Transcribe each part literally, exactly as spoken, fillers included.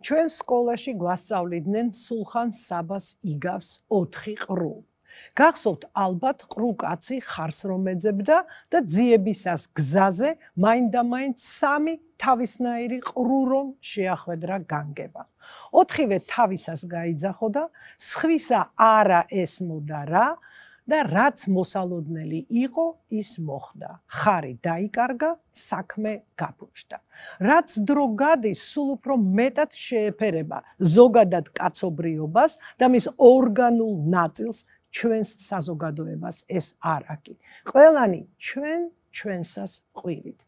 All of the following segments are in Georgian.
ჩვენ სკოლაში გვასწავლიდნენ სულხან საბას იგავს ოთხი ყრუ. გახსოვთ ალბათ ყრუ კაცი ხარს რომ ეძებდა და ძიებისას გზაზე მაინდამაინც სამი თავისნაირი ყრუ რომ შეახვედრა განგება. ოთხივე თავისას გაიძახო და სხვისა არა ესმოდა რა და რაც მოსალოდნელი იყო ის მოხდა. ხარი დაიკარგა, საქმე გაფუჭდა. რაც დრო გადის, სულ უფრო მეტად შეეფერება ზოგადად კაცობრიობას და მის ორგანულ ნაწილს ჩვენს საზოგადოებას ეს არა კი. ყველანი ჩვენ ჩვენსას ყვირით.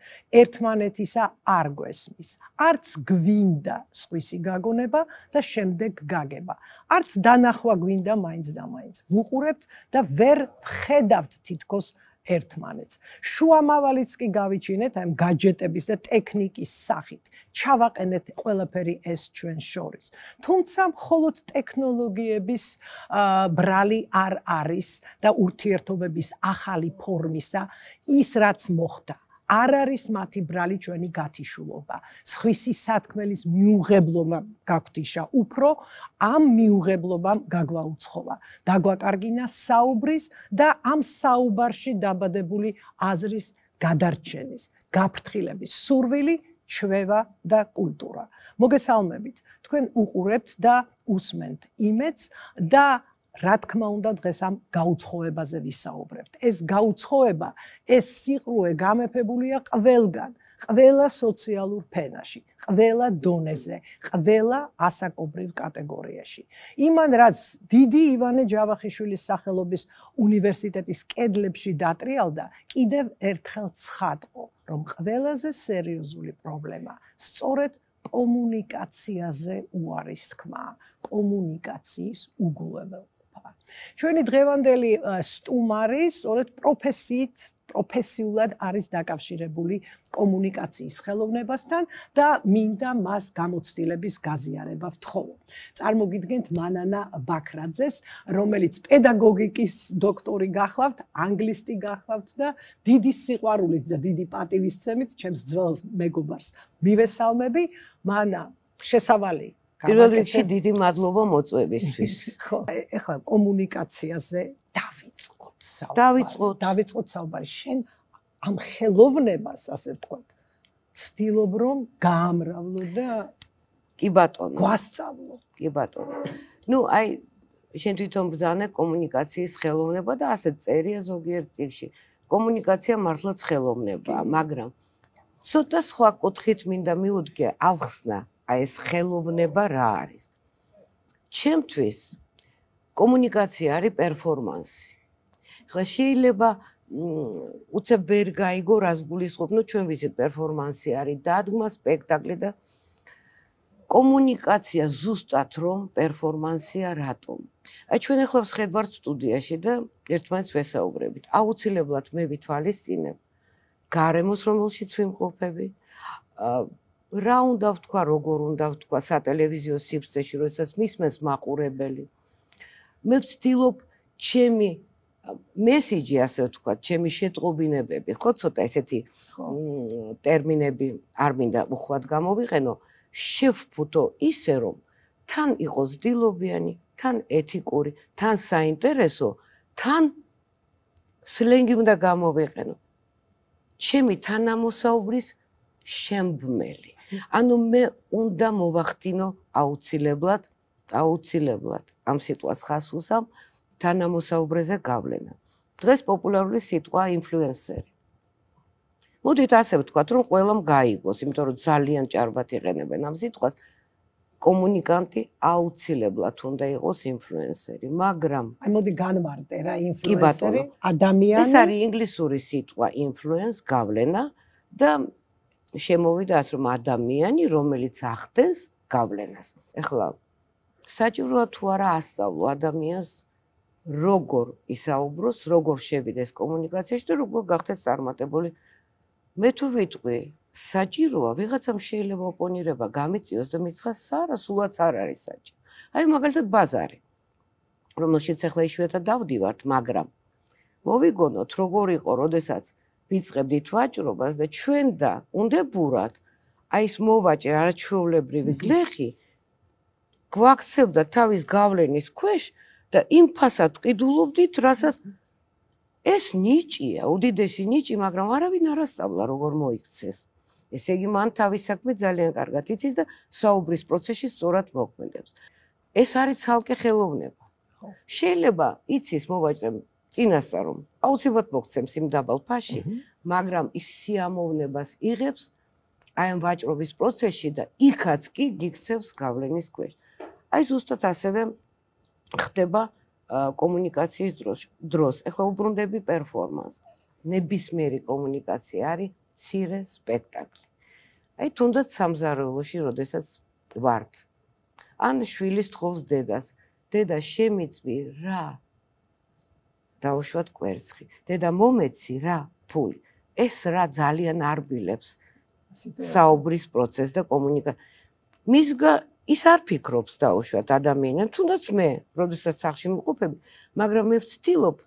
ერთმანეთისა არ გვესმის. არც გვინდა სხვისი გაგონება და შემდეგ გაგება. არც დანახვა გვინდა მაინც და მაინც. ვუყურებთ და ვერ ვხედავთ თითქოს ერთმანეთს. შუამავალიც კი გავიჩინეთ ამ გაჯეტების და ტექნიკის სახით. ჩავაყენეთ ყველაფერი ეს ჩვენ შორის. თუმცა მხოლოდ ტექნოლოგიების ბრალი არ არის და ურთიერთობების ახალი ფორმისა ის რაც მოხდა. არ არის მათი ბრალი ჩვენი გათიშულობა. სხვისი სათქმელის მიუღებლობა გაგვთიშა უფრო ამ მიუღებლობამ გაგვაუცხოვა. დაგვაკარგინა საუბრის და ამ საუბარში დაბადებული აზრის გადარჩენის, გაფრთხილების სურვილი, ჩვევა და კულტურა. მოგესალმებით, თქვენ უყურებთ და უსმენთ იმედს და რა თქმა უნდა დღეს ამ გაუცხოებაზე ვისაუბრებთ. ეს გაუცხოება, ეს სიყრუე გამეფებულია ყველგან, ყველა სოციალურ ფენაში, ყველა დონეზე, ყველა ასაკობრივ კატეგორიაში. იმან რაც დიდი ივანე ჯავახიშვილის სახელობის უნივერსიტეტის კედლებში დატრიალდა, კიდევ ერთხელ ცხადყო, რომ ყველაზე სერიოზული პრობლემა სწორედ კომუნიკაციაზე უარის თქმა, კომუნიკაციის უგულებელობა. ჩვენი დღევანდელი სტუმარი სწორედ პროფესიით, პროფესიულად არის დაკავშირებული კომუნიკაციის ხელოვნებასთან და მინდა მას გამოცდილების გაზიარება ვთხოვო. წარმოგიდგენთ მანანა ბაქრაძეს, რომელიც პედაგოგიკის დოქტორი გახლავთ, ანგლისტი გახლავთ და დიდი სიყვარულით და დიდი პატივისცემით ჩემს ძველ მეგობარს მივესალმები. მანა, შესავალი პირველ რიგში დიდი მადლობა მოწვევისთვის. ხო, ეხლა კომუნიკაციაზე დავიწყოთ საუბარი. დავიწყოთ, დავიწყოთ საუბარი. შენ ამ ხელოვნებას, ასე ვთქვათ, ცდილობ რომ გაამრავლო და კი ბატონო. გვასწავლო. კი ბატონო. ნუ აი შენ თვითონ ბრძანე კომუნიკაციის ხელოვნება და ასე წერია ზოგიერთ წიგნში. კომუნიკაცია მართლაც ხელოვნებაა, მაგრამ ცოტა სხვა კუთხით მინდა მივუდგე ავხსნა აი ეს ხელოვნება რა არის. ჩემთვის კომუნიკაცია არის პერფორმანსი. ხლა შეიძლება უცებ ვერ გაიგო რას გულისხმობ, ნუ ჩვენ ვიცით პერფორმანსი არის დადგმა, სპექტაკლი და კომუნიკაცია ზუსტად რომ პერფორმანსია რატომ. აი ჩვენ ახლა ვხედავთ სტუდიაში და ერთმანეთს ვესაუბრებით. აუცილებლად მე ვითვალისწინებ გარემოს რომელშიც ვიმყოფები. რა უნდა ვთქვა, როგორ უნდა ვთქვა სატელევიზიო სივრცეში, როდესაც მისმენს მაყურებელი. მე ვცდილობ ჩემი მესიჯი, ასე ვთქვათ, ჩემი შეტყობინებები, ხო, ცოტა ესეთი ტერმინები არ მინდა უხვად გამოვიყენო, შევფუთო ისე, რომ თან იყოს დილობიანი, თან ეთიკური, თან საინტერესო, თან სლენგი უნდა გამოვიყენო. ჩემი თანამოსაუბრის შემბმელი. ანუ მე უნდა მოვახდინო აუცილებლად, აუცილებლად ამ სიტყვას ხას უსამ თანამოსაუბრეზე გავლენა. დღეს პოპულარული სიტყვა ინფლუენსერი. მოდით ასე ვთქვათ, რომ ყველამ გაიგოს, იმიტომ რომ ძალიან ჭარბად იყენებენ ამ სიტყვას. კომუნიკანტი აუცილებლად უნდა იყოს ინფლუენსერი, მაგრამ აი მოდი განმარტე რა ინფლუენსერი, ადამიანი. ეს არის ინგლისური სიტყვა influence, გავლენა და შემოვიდა ასე რომ ადამიანი, რომელიც ახდენს გავლენას. ეხლა საჭიროა თუ არა ასწავლო ადამიანს როგორ ისაუბროს, როგორ შევიდეს კომუნიკაციაში და როგორ გახდეს წარმატებული. მე თუ ვიტყვი, საჭიროა ვიღაცამ შეიძლება ოპონირება გამიწიოს და მითხრას, არა, სულაც არ არის საჭირო. აი მაგალითად ბაზარი, რომელშიც ახლა იშვიათად დავდივართ, მაგრამ მოვიგონოთ როგორ იყო, როდესაც ვიწყებდით ვაჭრობას და ჩვენ და უნდებურად აი ეს მოვაჭრე არაჩვეულებრივი გლეხი გვაქცევდა თავის გავლენის ქვეშ და იმ ფასად ყიდულობდით, რასაც ეს ნიჭია, უდიდესი ნიჭი, მაგრამ არავინ არ ასწავლა როგორ მოიქცეს. ესე იგი მან თავის საქმე ძალიან კარგად იცის და საუბრის პროცესში სწორად მოქმედებს. ეს არის ცალკე ხელოვნება. შეიძლება იცის მოვაჭრე წინასწარ რომ აუცილებლად მოგცემს იმ დაბალ ფასში, მაგრამ ის სიამოვნებას იღებს აი ამ ვაჭრობის პროცესში და იქაც კი გიქცევს გავლენის ქვეშ. აი ზუსტად ასევე ხდება კომუნიკაციის დროს. დროს. ეხლა უბრუნდები პერფორმანს. ნებისმიერი კომუნიკაცია არის მცირე სპექტაკლი. აი თუნდაც სამზარეულოში, როდესაც ვართ. ან შვილის თხოვს დედას. დედა შემიწვი რა? დაუშვათ კვერცხი. დედა მომეცი რა? ფული. ეს რა ძალიან არბილებს საუბრის პროცესს და კომუნიკაციას. მისგა ის არ ფიქრობს დაუშვათ ადამიანებს, თუნდაც მე, როდესაც სახში მყოფები, მაგრამ მე ვცდილობ,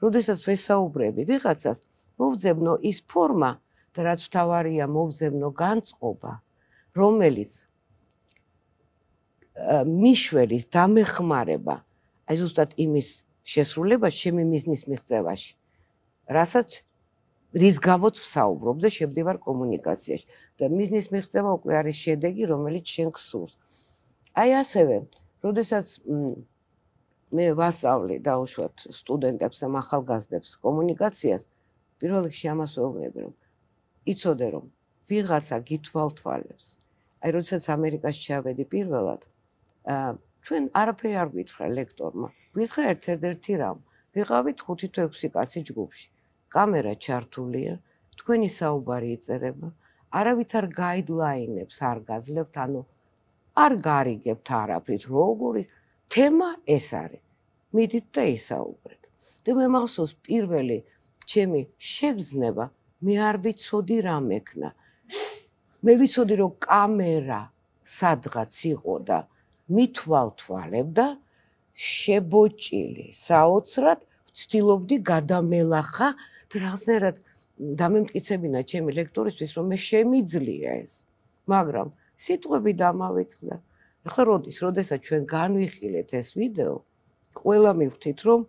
როდესაც ვესაუბრები ვიღაცას, მოვძებნო ის ფორმა და რაც მთავარია, მოვძებნო განწყობა, რომელიც მიშველის დამეხმარება, აი ზუსტად იმის შესრულებას ჩემი მიზნის მიღწევაში, რასაც რის გამოც ვსაუბრობ და შევდივარ კომუნიკაციაში და მიზნის მიღწევა უკვე არის შედეგი, რომელიც შენ გსურს. აი ასევე, როდესაც მე ვასწავლე დაუშვათ სტუდენტებს და ახალგაზრდებს კომუნიკაციას, პირველ რიგში ამას ვეუბნები, რომ იცოდე, რომ ვიღაცა გითვალთვალებს. აი როდესაც ამერიკაში ჩავედი პირველად, ჩვენ არაფერი არ გვითხრა ლექტორმა. გვითხრა ერთ-ერთი რამ. ვიყავით ხუთი თუ ექვსი კაცი ჯგუფში. კამერა ჩართულია, თქვენი საუბარი იწერება, არავითარ გაიდლაინებს არ გაძლევთ, ანუ არ გარიგებთ არაფრით, როგორი თემა ეს არის. მიდით და ისაუბრეთ. და მე მახსოვს პირველი ჩემი შეგრძნება, მე არ ვიცოდი რა მექნა. მე ვიცოდი რომ კამერა სადღაც იყო და მithვალთვალებდა შებოჭილი საოცრად ვცდილობდი გადამელახა და რაღაცნაირად დამემტკიცებინა ჩემი ლექტორისთვის რომ მე შემიძლია ეს მაგრამ სიტყვები დამავიწყდა ახლა როდის როდესაც ჩვენ განვიხილეთ ეს ვიდეო ყველა მივხვდით რომ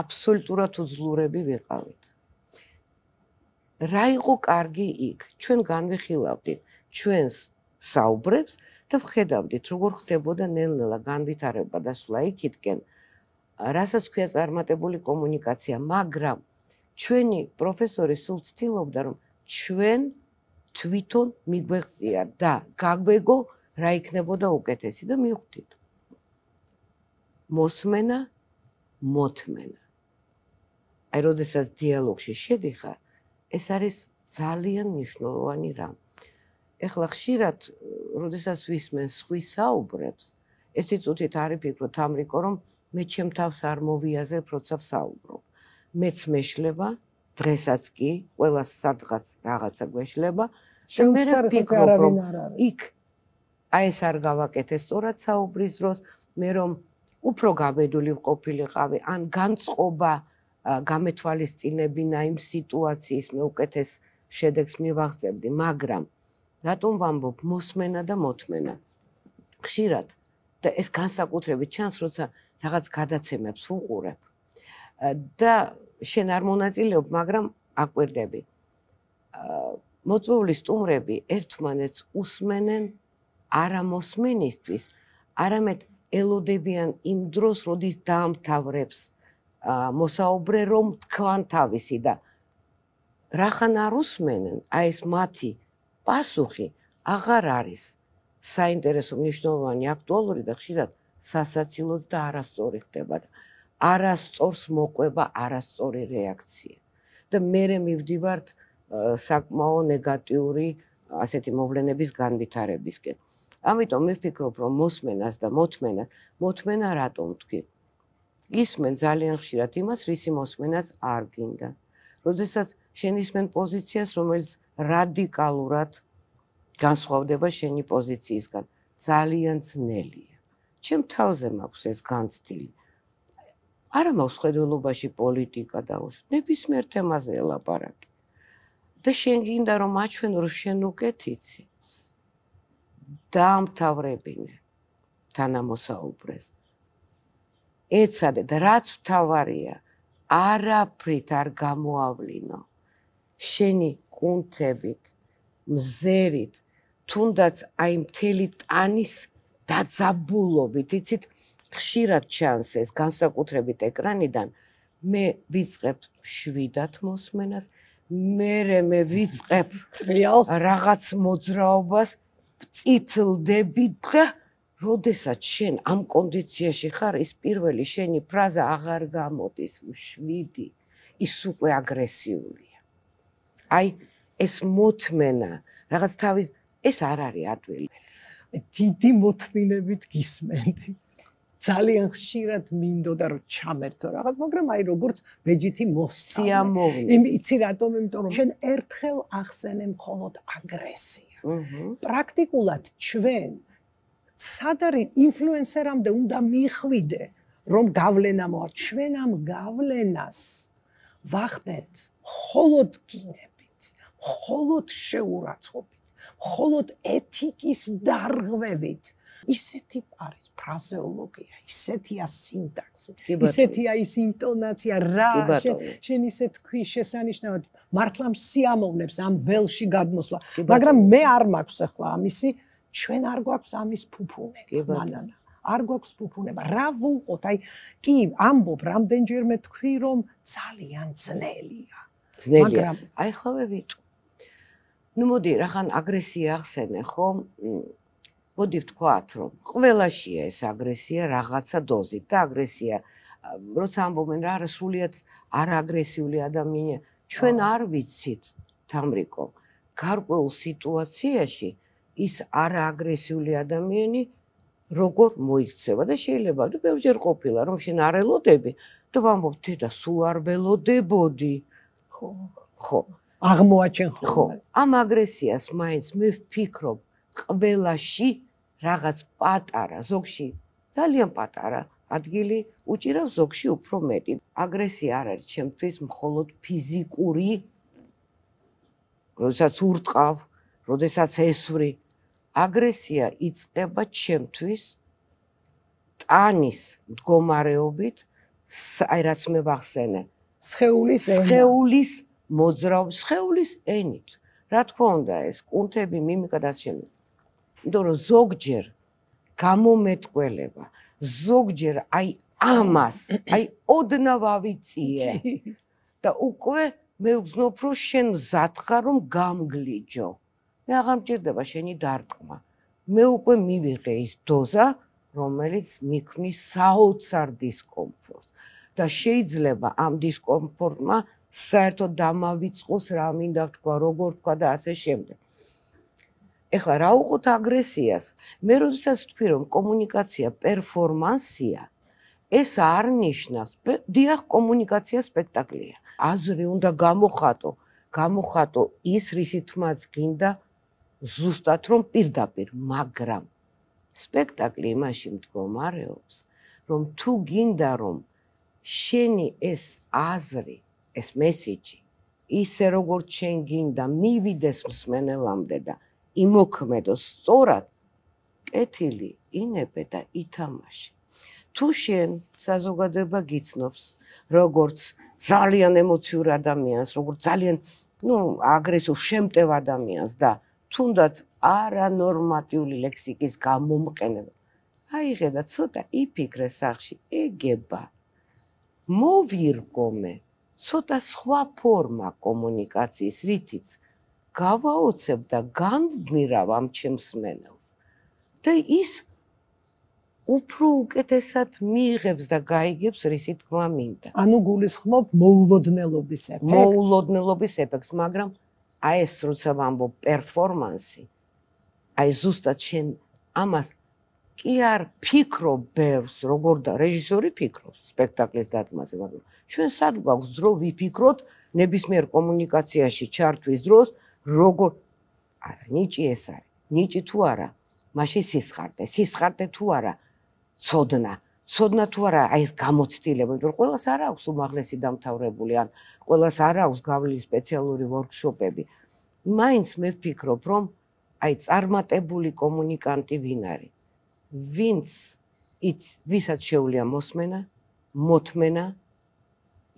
აბსოლუტურად უძლურები ვიყავით რა იყო კარგი იქ ჩვენ განვიხილავდით ჩვენს საუბრებს და ვხედავდით როგორ ხდებოდა ნელ-ნელა განვითარება და სვლა იქითკენ რასაც ქვია წარმატებული კომუნიკაცია მაგრამ ჩვენი პროფესორი სულ ცდილობდა რომ ჩვენ თვითონ მიგვეღწია და გაგვეგო რა იქნებოდა უკეთესი და მივხვდით მოსმენა მოთმენა აი როდესაც დიალოგში შედიხარ ეს არის ძალიან მნიშვნელოვანი რამ ეხლა ხშირად როდესაც ვისმენ სხვის საუბრებს ერთი წუთით არ ვიფიქროთ ამრიკო რომ მე ჩემ თავს არ მოვიაზრებ როცა ვსაუბრობ მეც მეშლება დღესაც კი ყველას სადღაც რაღაცა გვეშლება და მე ვფიქრობ რომ იქ აი ეს არ გავაკეთე სწორად საუბრის დროს მე რომ უფრო გაბედული ვყოფილიყავი ან განწყობა გამეთვალისწინებინა იმ სიტუაციის მე უკეთეს შედეგს მივაღწევდი მაგრამ რატომ ვამბობ მოსმენა და მოთმენა ხშირად და ეს განსაკუთრებით ჩანს როცა რაღაც გადაცემებს ვუყურებ და შენ არ მონაწილეობ მაგრამ აკვირდები მოწვეული სტუმრები ერთმანეთს უსმენენ არა მოსმენისთვის არამედ ელოდებიან იმ დროს როდის დაამთავრებს მოსაუბრე რომ თქვან თავისი და რახან არ უსმენენ აი ეს მათი პასუხი აღარ არის საინტერესო მნიშვნელოვანი აქტუალური და ხშირად სასაცილოც და არასწორი ხდება და არასწორს მოყვება არასწორი რეაქცია და მე მივდივართ საკმაო ნეგატიური ასეთი მოვლენების განვითარებისკენ ამიტომ მე ვფიქრობ რომ მოსმენას და მოთმენას მოთმენა რატომ თქვი ისმენ ძალიან ხშირად იმას რისი მოსმენაც არ გინდა როდესაც შენ ისმენ პოზიციას რომელიც რადიკალურად განსხვავდება შენი პოზიციისგან ძალიან ძნელია ჩემ თავზე მაქვს ეს განცდილი არა მაქვს ხედველობაში პოლიტიკა დაუშვათ ნებისმიერ თემაზე ელაპარაკი და შენ გინდა რომ აჩვენო რომ შენ უკეთ იცი დაამთავრებინე თანამოსაუბრეს. ეცადე და რაც თავარია, არაფრით არ გამოავლინო. შენი კუნთებით, მზერით, თუნდაც აი მთელი ტანის დაძაბულობით, იცით, ხშირად ჩანს ეს განსაკუთრებით ეკრანიდან, მე ვიწყებ შვიდად მოსმენას, მერე მე ვიწყებ რაღაც მოძრაობას, ვწითლდები და როდესაც შენ ამ კონდიციაში ხარ, ის პირველი შენი ფრაზა აღარ გამოდის, შვიდი, ის უკვე აგრესიულია. აი ეს მოთმენა, რაღაც თავის, ეს არ არის ადვილი. დიდი მოთმინებით გისმენდი. ძალიან ხშირად მინდოდა რომ ჩამერთო რაღაც, მაგრამ აი როგორც ბეჯითი მოსწავლე. იმ იცი რატომ? იმიტომ რომ შენ ერთხელ ახსენე მხოლოდ აგრესია. პრაქტიკულად ჩვენ სად არის ინფლუენსერამდე უნდა მიხვიდე რომ გავლენა მოაქვს. ჩვენ ამ გავლენას ვახდენთ მხოლოდ გინებით, მხოლოდ შეურაცხყოფით, მხოლოდ ეთიკის დარღვევით. ისეთი არის ფრაზეოლოგია, ისეთია სინტაქსი, ისეთია ის ინტონაცია, რა შენ ისე თქვი შესანიშნავად, მართლა სიამოვნებს ამ ველში გადმოსვლა, მაგრამ მე არ მაქვს ახლა ამისი, ჩვენ არ გვაქვს ამის ფუფუნება, მანანა, არ გვაქვს ფუფუნება, რა ვუყოთ, აი, კი, ამბობ, რამდენჯერმე თქვი, რომ ძალიან ძნელია. ძნელია, აი ხლავე ვიტყვი. ნუ მოდი, რახან აგრესია ახსენე, ხო? მოდი ვთქვათ, რომ ყველაშია ეს აგრესია რაღაცა დოზით და აგრესია, როცა ამბობენ რა, სრულიად არააგრესიული ადამიანია, ჩვენ არ ვიცით, თამრიკო, გარკვეულ სიტუაციაში ის არააგრესიული ადამიანი როგორ მოიქცევა და შეიძლება და ბევრჯერ ყოფილა, რომ შენ არ ელოდები და ვამბობ, დედა, სულ არ ველოდებოდი. ხო, ხო. აღმოაჩენ ხოლმე. ამ აგრესიას მაინც მე ვფიქრობ, ყველაში რაღაც პატარა, ზოგში ძალიან პატარა ადგილი უჭირავს, ზოგში უფრო მეტი. აგრესია არ არის ჩემთვის მხოლოდ ფიზიკური, როდესაც ურტყავ, როდესაც ესვრი. აგრესია იწყება ჩემთვის ტანის მდგომარეობით, აი რაც მე ვახსენე, სხეულის სხეულის მოძრაობის, სხეულის ენით. რა თქმა უნდა, ეს კუნთები, მიმიკა და შემდეგ. იმიტომ რომ ზოგჯერ გამომეტყველება, ზოგჯერ აი ამას, აი ოდნავ ავიწიე და უკვე მე ვგზნობ, რომ შენ მზად ხარ, რომ გამგლიჯო. მე აღარ მჭირდება შენი დარტყმა. მე უკვე მივიღე ის დოზა, რომელიც მიქმნის საოცარ დისკომფორტს და შეიძლება ამ დისკომფორტმა საერთოდ დამავიწყოს რა მინდა ვთქვა, როგორ ვთქვა და ასე შემდეგ. ეხლა რა უყოთ აგრესიას? მე როდესაც ვთქვი, რომ კომუნიკაცია პერფორმანსია, ეს არ ნიშნავს, დიახ, კომუნიკაცია სპექტაკლია. აზრი უნდა გამოხატო, გამოხატო ის, რისით მას გინდა ზუსტად რომ პირდაპირ, მაგრამ სპექტაკლი იმაში მდგომარეობს, რომ თუ გინდა რომ შენი ეს აზრი, ეს მესიჯი, ისე როგორც შენ გინდა მივიდეს მსმენელამდე და იმოქმედოს სწორად, კეთილი, ინებე და ითამაშე. თუ შენ საზოგადოება გიცნობს, როგორც ძალიან ემოციურ ადამიანს, როგორც ძალიან, ნუ, აგრესიულ, შემტევ ადამიანს და თუნდაც არანორმატიული ლექსიკის გამომყენება. აიღე და ცოტა იფიქრე სახში, ეგება. მოვირგომე ცოტა სხვა ფორმა კომუნიკაციის, რითიც გავაოცებ და განვმირავ ამ ჩემს მსმენელს. და ის უფრო უკეთესად მიიღებს და გაიგებს, რისი თქმა მინდა. ანუ გულისხმობ მოულოდნელობის ეფექტს. მოულოდნელობის ეფექტს, მაგრამ აი ეს როცა ვამბობ პერფორმანსი, აი ზუსტად შენ ამას კი არ ფიქრობ ბევრს, როგორ და რეჟისორი ფიქრობს სპექტაკლის დადგმაზე, მაგრამ ჩვენ სად გვაქვს დრო ვიფიქროთ ნებისმიერ კომუნიკაციაში ჩართვის დროს, როგორ არა, ნიჭი ეს არის. ნიჭი თუ არა, მაშინ სისხარტე, სისხარტე თუ არა, ცოდნა, ცოდნა თუ არა, აი ეს გამოცდილება, იმიტომ რომ ყველას არ აქვს უმაღლესი დამთავრებული, ან ყველას არ აქვს გავლილი სპეციალური ვორქშოპები. მაინც მე ვფიქრობ, რომ აი წარმატებული კომუნიკანტი ვინ არის? ვინც იც ვისაც შეუძლია მოსმენა, მოთმენა,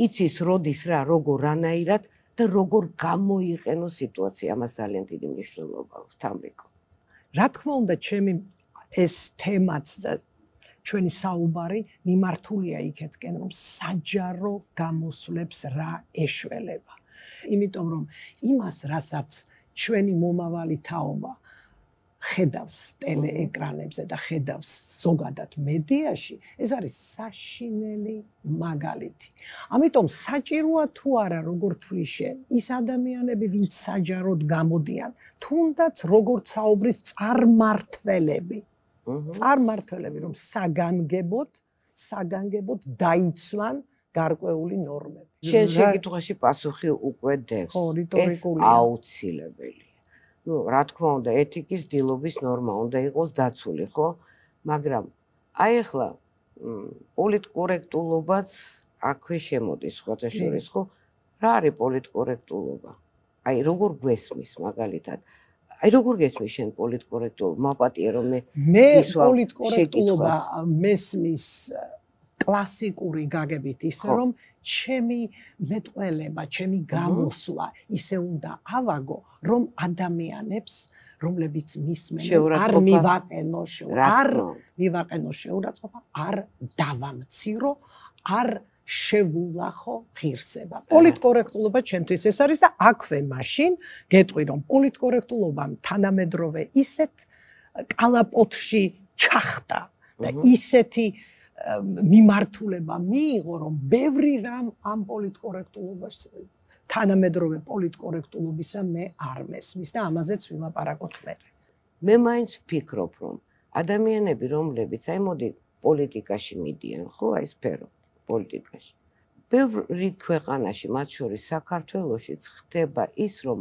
იცის როდის რა, როგორ რანაირად და როგორ გამოიყენო სიტუაცია, ამას ძალიან დიდი მნიშვნელობა აქვს თამრიკო. რა თქმა უნდა, ჩემი ეს თემაც და ჩვენი საუბარი მიმართულია იქეთკენ, რომ საჯარო გამოსვლებს რა ეშველება. იმიტომ რომ იმას, რასაც ჩვენი მომავალი თაობა ხედავს ტელეეკრანებზე და ხედავს ზოგადად მედიაში, ეს არის საშინელი მაგალითი. ამიტომ საჭიროა თუ არა, როგორ თვლი შენ, ის ადამიანები, ვინც საჯაროდ გამოდიან, თუნდაც როგორც საუბრის წარმმართველები, წარმმართველები, რომ საგანგებოდ, საგანგებოდ დაიცვან გარკვეული ნორმები. შენ შეკითხვაში პასუხი უკვე დევს. ეს აუცილებელია. ნუ რა თქმა უნდა, ეთიკის დილობის ნორმა უნდა იყოს დაცული, ხო? მაგრამ აი ახლა პოლიტკორექტულობაც აქვე შემოდის, ხოთა შორის, ხო? რა არის პოლიტკორექტულობა? აი როგორ გვესმის მაგალითად? აი როგორ გესმის შენ პოლიტკორექტულობა? მაპატიე რომ მე მე პოლიტკორექტულობა მესმის კლასიკური გაგებით ისე რომ ჩემი მეტყველება, ჩემი გამოსვლა ისე უნდა ავაგო, რომ ადამიანებს, რომლებიც მისმენენ, არ მივაყენო არ მივაყენო შეურაცხყოფა, არ დავამცირო, არ შევულახო ღირსება. პოლიტკორექტულობა ჩემთვის ეს არის და აქვე მაშინ გეტყვი რომ პოლიტკორექტულობამ თანამედროვე ისეთ კალაპოტში ჩახტა და ისეთი მიმართულება მიიღო, რომ ბევრი რამ ამ პოლიტკორექტულობას თანამედროვე პოლიტკორექტულობისა მე არ მესმის და ამაზეც ვილაპარაკოთ მე. მე მაინც ვფიქრობ, რომ ადამიანები, რომლებიც აი მოდი პოლიტიკაში მიდიან, ხო, აი სფერო პოლიტიკაში. ბევრი ქვეყანაში, მათ შორის საქართველოშიც ხდება ის, რომ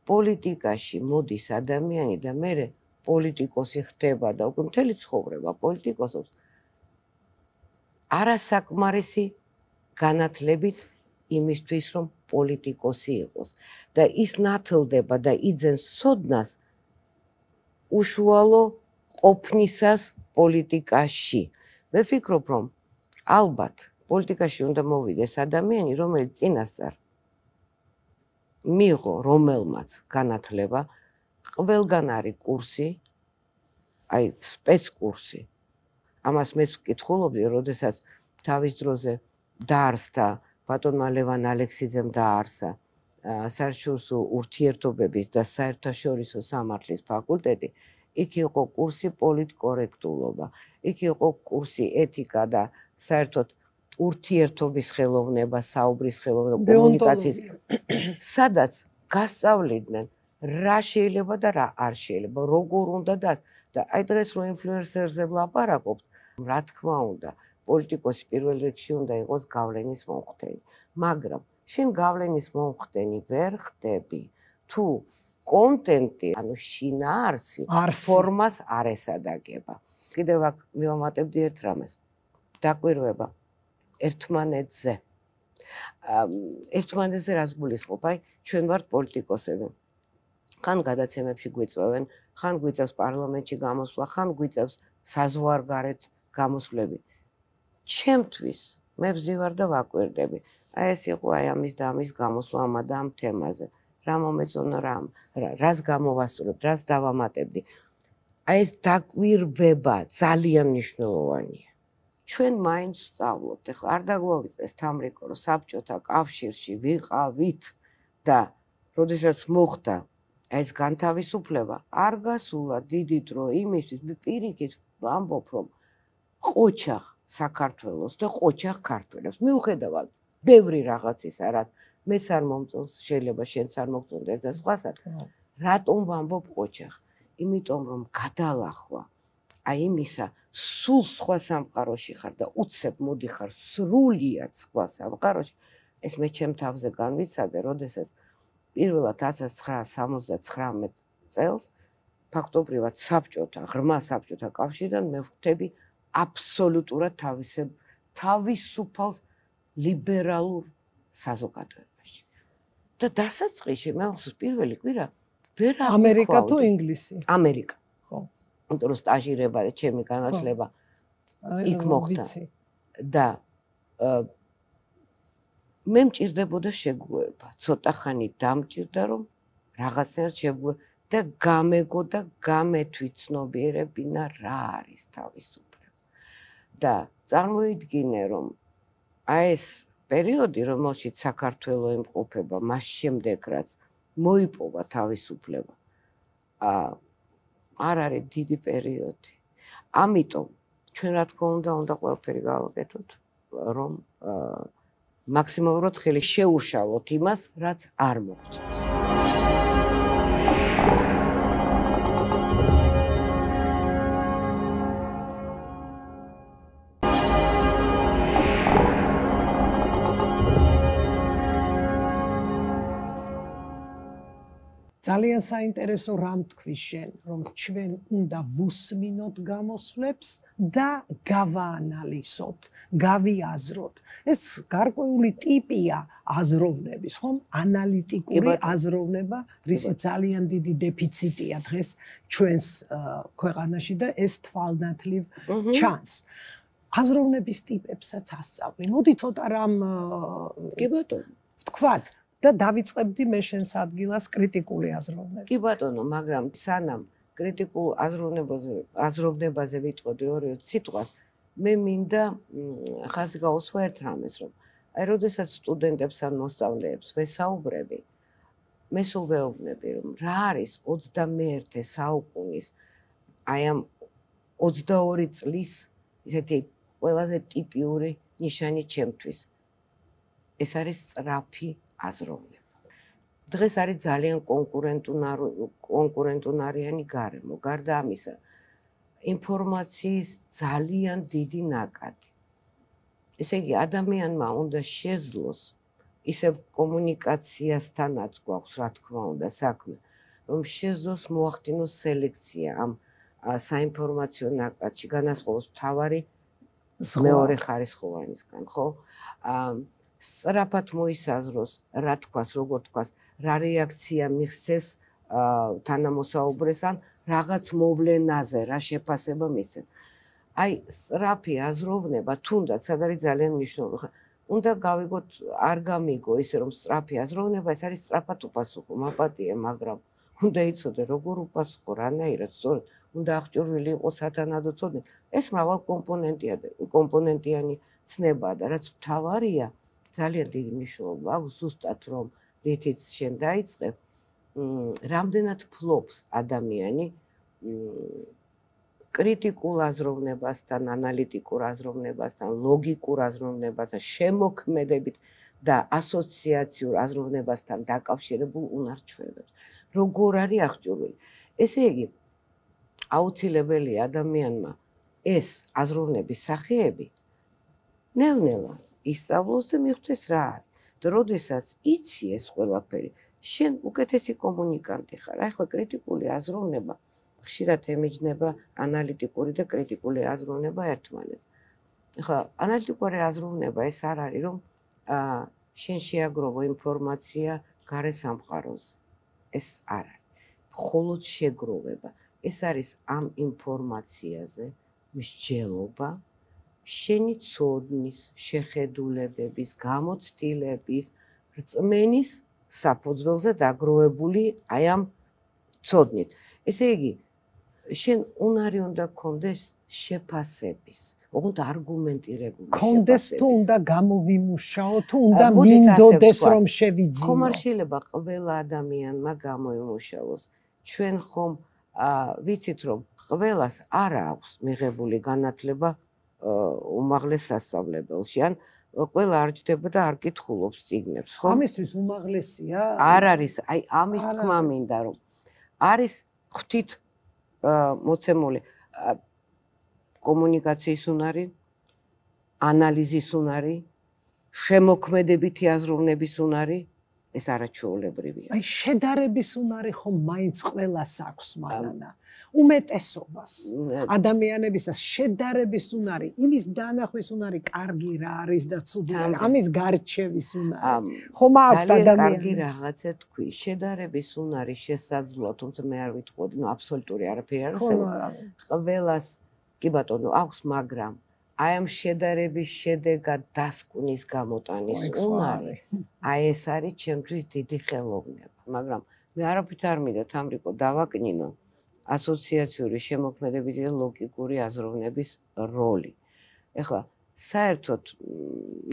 პოლიტიკაში მოდის ადამიანი და მერე პოლიტიკოსი ხდება და უკვე მთელი ცხოვრება პოლიტიკოსობს. არასაკმარისი განათლებით იმისთვის, რომ პოლიტიკოსი იყოს და ის ნათლდება და იძენს სოდნას უშუალო ყოფნისას პოლიტიკაში. მე ვფიქრობ, რომ ალბათ პოლიტიკაში უნდა მოვიდეს ადამიანი, რომელიც წინასწარ მიიღო რომელმაც განათლება, ყველგან არის კურსი, აი სპეცკურსი. ამას მეც ვკითხულობდი, როდესაც თავის დროზე დაარსდა ბატონმა ლევან ალექსიძემ დაარსა საერთაშორისო ურთიერთობების და საერთაშორისო სამართლის ფაკულტეტი, იქ იყო კურსი პოლიტკორექტულობა, იქ იყო კურსი ეთიკა და საერთოდ ურთიერთობის ხელოვნება, საუბრის ხელოვნება, კომუნიკაციის, სადაც გასწავლიდნენ რა შეიძლება და რა არ შეიძლება, როგორ უნდა და აი დღეს რო ინფლუენსერზე ვლაპარაკობთ, რა თქმა უნდა, პოლიტიკოსი პირველ რიგში უნდა იყოს გავლენის მომხდენი, მაგრამ შენ გავლენის მომხდენი ვერ ხდები, თუ კონტენტი, ანუ შინაარსი ფორმას არ ესადაგება. კიდევ აქ მივამატებდი ერთ რამეს. დაკვირვება ერთმანეთზე. ერთმანეთზე რას გულისხმობ? აი, ჩვენ ვართ პოლიტიკოსები. ხან გადაცემებში გვიწვევენ, ხან გვიწევს პარლამენტში გამოსვლა, ხან გვიწევს საზღვარგარეთ გამოსვლები. ჩემთვის მე ვზივარ და ვაკვირდები. აი ეს იყო აი ამის და ამის გამოსვლა ამ და ამ თემაზე. რა მომეწონა რამ, რას გამოვასწორებ, რას დავამატებდი. აი ეს დაკვირვება ძალიან მნიშვნელოვანია. ჩვენ მაინც ვსწავლობთ, ეხლა არ დაგვავიწყდეს თამრიკო, რომ საბჭოთა კავშირში ვიყავით და როდესაც მოხდა ეს განთავისუფლება, არ გასულა დიდი დრო იმისთვის, მე პირიქით ვამბობ, რომ ყოჩახ საქართველოს და ყოჩახ ქართველებს მიუხედავად ბევრი რაღაცისა, რაც მეც არ მომწონს, შეიძლება შენც არ მოგწონდეს და სხვასაც. რატომ ვამბობ ყოჩახ? იმიტომ რომ გადალახვა აი იმისა, სულ სხვა სამყაროში ხარ და უცებ მოდიხარ სრულიად სხვა სამყაროში, ეს მე ჩემ თავზე განვიცადე, როდესაც პირველად ათას ცხრაასი სამოცდათხრამეტ წელს ფაქტობრივად საბჭოთა, ღრმა საბჭოთა კავშირიდან მე ვხვდები აბსოლუტურად თავისებ თავისუფალ ლიბერალურ საზოგადოებაში. და დასაწყისში მე ხსოვს პირველი კვირა ვერ აღვხვავდი. ამერიკა თუ ინგლისი? ამერიკა. ხო. იმიტომ რომ სტაჟირება და ჩემი განათლება იქ მოხდა და მე მჭირდებოდა შეგუება, ცოტა ხანი დამჭირდა რომ რაღაცნაირად შეგუება და გამეგო და გამეთვითცნობიერებინა რა არის თავისუფლება. და წარმოიდგინე რომ აი ეს პერიოდი, რომელშიც საქართველო იმყოფება, მას შემდეგ რაც მოიპოვა თავისუფლება, არ არის დიდი პერიოდი. ამიტომ ჩვენ რა თქმა უნდა, უნდა ყველაფერი გავაკეთოთ, რომ მაქსიმალურად ხელი შეუშალოთ იმას, რაც არ მოგწონს. ძალიან საინტერესო რამ თქვი შენ, რომ ჩვენ უნდა ვუსმინოთ გამოსვლებს და გავაანალიზოთ, გავიაზროთ. ეს გარკვეული ტიპია აზროვნების, ხომ? ანალიტიკური აზროვნება, რისი ძალიან დიდი დეფიციტია დღეს ჩვენს ქვეყანაში და ეს თვალნათლივ ჩანს. აზროვნების ტიპებსაც ასწავლი. მოდი ცოტა რამ კი ბატონო, ვთქვათ და დავიწყებდი მე შენს ადგილას კრიტიკული აზროვნები. კი ბატონო, მაგრამ სანამ კრიტიკულ აზროვნებაზე აზროვნებაზე ვიტყოდი ორი-ორი სიტყვას, მე მინდა ხაზი გაუსვა ერთ რამეს, რომ აი როდესაც სტუდენტებს ან მოსწავლეებს ვესაუბრები, მე სულ ვეუბნები, რომ რა არის ოცდამეერთე საუკუნის აი ამ ოცდაორი წლის ისეთი ყველაზე ტიპიური ნიშანი ჩემთვის. ეს არის სწრაფი აზროვნება. დღეს არის ძალიან კონკურენტუნარიანი გარემო. გარდა ამისა, ინფორმაციის ძალიან დიდი ნაკადი. ესე იგი, ადამიანმა უნდა შეძლოს ისევ კომუნიკაციასთანაც გვაქვს, რა თქმა უნდა, საქმე, რომ შეძლოს მოახდინოს სელექცია ამ საინფორმაციო ნაკადში, განასხვავოს მთავარი მეორე ხარისხოვანისგან, ხო? სწრაფად მოისაზროს, რა თქვას, როგორ თქვას, რა რეაქცია მიღწეს თანამოსაუბრეს ან რაღაც მოვლენაზე, რა შეფასება მისცეს. აი, სწრაფი აზროვნება, თუნდაც სად არის ძალიან მნიშვნელოვანი. უნდა გავიგოთ, არ გამიგო ისე რომ სწრაფი აზროვნება, ეს არის სწრაფად უპასუხო, მაპატიე, მაგრამ უნდა იცოდე, როგორ უპასუხო, რანაირად, სწორედ, უნდა აღჭურვილი იყოს სათანადო ცოდნა. ეს მრავალ კომპონენტია და კომპონენტიანი ცნებაა და რაც მთავარია, ძალიან დიდი მნიშვნელობა აქვს ზუსტად რომ რითიც შენ დაიწყე, რამდენად ფლობს ადამიანი კრიტიკულ აზროვნებასთან, ანალიტიკურ აზროვნებასთან, ლოგიკურ აზროვნებასთან, შემოქმედებით და ასოციაციურ აზროვნებასთან დაკავშირებულ უნარ-ჩვევებს. როგორ არის აღჭურვილი? ესე იგი, აუცილებელია ადამიანმა ეს აზროვნების სახეები ნელ-ნელა ისწავლოს და მიხვდეს რა არის. და როდესაც იცი ეს ყველაფერი, შენ უკეთესი კომუნიკანტი ხარ. ახლა კრიტიკული აზროვნება ხშირად ემიჯნება ანალიტიკური და კრიტიკული აზროვნება ერთმანეთს. ახლა ანალიტიკური აზროვნება ეს არ არის, რომ შენ შეაგროვო ინფორმაცია გარე სამყაროზე. ეს არ არის. მხოლოდ შეგროვება. ეს არის ამ ინფორმაციაზე მსჯელობა შენი ცოდნის, შეხედულებების, გამოცდილების, რწმენის საფუძველზე დაგროვებული აი ამ ცოდნით. ესე იგი, შენ უნარი უნდა გქონდეს შეფასების, ოღონდ არგუმენტირებული შეფასების. გქონდეს თუ უნდა გამოვიმუშაო, თუ უნდა მინდოდეს რომ შევიძინო. ხომ არ შეიძლება ყველა ადამიანმა გამოიმუშაოს. ჩვენ ხომ ვიცით რომ ყველას არ აქვს მიღებული განათლება უმაღლეს სასწავლებელში, ან ყველა არ ჯდება და არ კითხულობს წიგნებს, ხო? ამისთვის უმაღლესია? არ არის, აი ამის თქმა მინდა რომ არის ღვთით მოცემული კომუნიკაციის უნარი, ანალიზის უნარი, შემოქმედებითი აზროვნების უნარი, ეს არაჩვეულებრივია. აი შედარების უნარი ხომ მაინც ყველას აქვს მანანა. უმეტესობას ადამიანებისას შედარების უნარი, იმის დანახვის უნარი კარგი რა არის და ცუდი რა, ამის გარჩევის უნარი. ხომ აქვს ადამიანებს. კარგი რაღაცა თქვი, შედარების უნარი შესაძლოა, თუმცა მე არ ვიტყოდი, ნუ აბსოლუტური არაფერი არ არსებობს. ყველას კი ბატონო აქვს, მაგრამ აი ამ შედარების შედეგად დასკვნის გამოტანის უნარი, აი ეს არის ჩემთვის დიდი ხელოვნება, მაგრამ მე არაფრით არ მინდა თამრიკო დავაკნინო ასოციაციური შემოქმედებითი და ლოგიკური აზროვნების როლი. ეხლა საერთოდ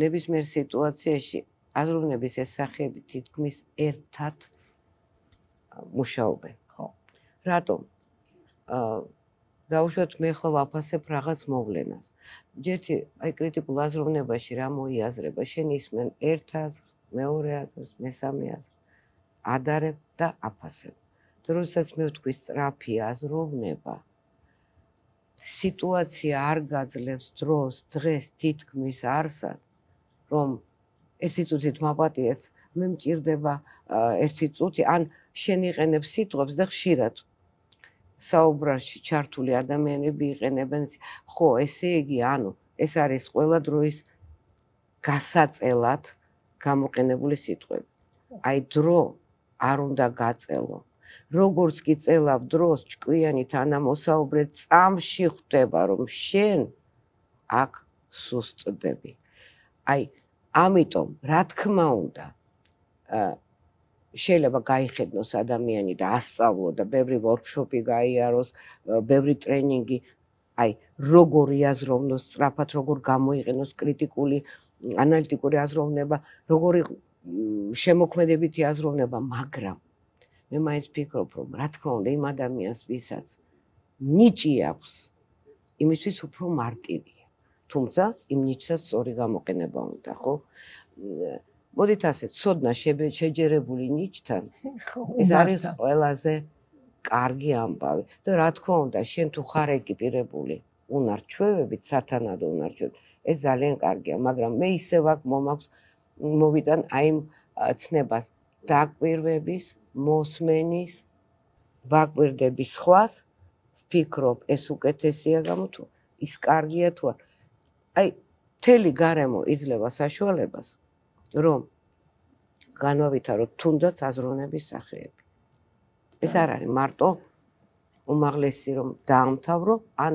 ნებისმიერ სიტუაციაში აზროვნების ეს სახეები თითქმის ერთად მუშაობენ. ხო. რატომ? აა დაუშვათ მე ახლა ვაფასებ რაღაც მოვლენას. ჯერთი აი კრიტიკულ აზროვნებაში რა მოიაზრება, შენ ისმენ ერთ აზრს, მეორე აზრს, მესამე აზრს, ადარებ და აფასებ. და როდესაც მე ვთქვი სწრაფი აზროვნება, სიტუაცია არ გაძლევს დროს, დღეს თითქმის არსად, რომ ერთი წუთით მაპატიეთ, მე მჭირდება ერთი წუთი, ან შენ იყენებ სიტყვებს და ხშირად საუბრაში ჩართული ადამიანები იყენებენ, ხო, ესე იგი, ანუ ეს არის ყველა დროის გასაწელად გამოყენებული სიტყვები. აი დრო არ უნდა გაწელო. როგორც კი წელავ დროს ჭკვიანი თანამოსაუბრე წამში ხვდება, რომ შენ აქ სუსტდები. აი, ამიტომ, რა თქმა უნდა, შეიძლება გაიხედნოს ადამიანი და ასწავლო და ბევრი ვორქშოპი გაიაროს, ბევრი ტრენინგი, აი, როგორ იაზროვნოს სწრაფად, როგორ გამოიყენოს კრიტიკული, ანალიტიკური აზროვნება, როგორი შემოქმედებითი აზროვნება, მაგრამ მე მაინც ფიქრობ, რომ რა თქმა უნდა, იმ ადამიანს, ვისაც ნიჭი აქვს, იმისთვის უფრო მარტივია. თუმცა, იმ ნიჭსაც სწორი გამოყენება უნდა, ხო? მოდით ასე, ცოდნა შეჯერებული ნიჭთან, ეს არის ყველაზე კარგი ამბავი. და რა თქმა უნდა, შენ თუ ხარ ეკიპირებული უნარ-ჩვევებით, სათანადო უნარ-ჩვევებით, ეს ძალიან კარგია, მაგრამ მე ისევ აქ მომაქვს მოვიტან აი იმ ცნებას დაკვირვების, მოსმენის, ვაკვირდების სხვას, ვფიქრობ, ეს უკეთესია გამო თუ ის კარგია თუ არა. აი, მთელი გარემო იძლევა საშუალებას, რომ განავითაროთ თუნდაც აზროვნების სახეები. ეს არ არის მარტო უმაღლესი რომ დაამთავრო, ან